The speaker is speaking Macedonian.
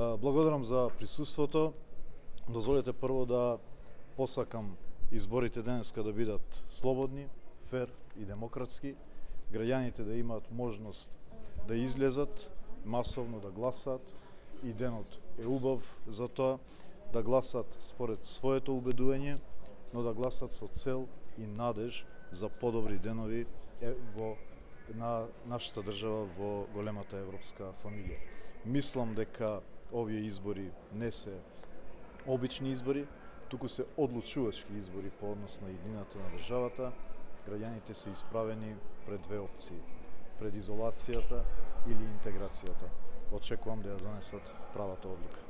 Благодарам за присуството. Дозволете прво да посакам изборите денеска да бидат слободни, фер и демократски. Граѓаните да имаат можност да излезат масовно да гласаат и денот е убав за тоа да гласат според своето убедување, но да гласат со цел и надеж за подобри денови на нашата држава во големата европска фамилија. Мислам дека овие избори не се обични избори, туку се одлучувачки избори по однос на иднината на државата. Граѓаните се исправени пред две опции: пред изолацијата или интеграцијата. Очекувам да ја донесат правата одлука.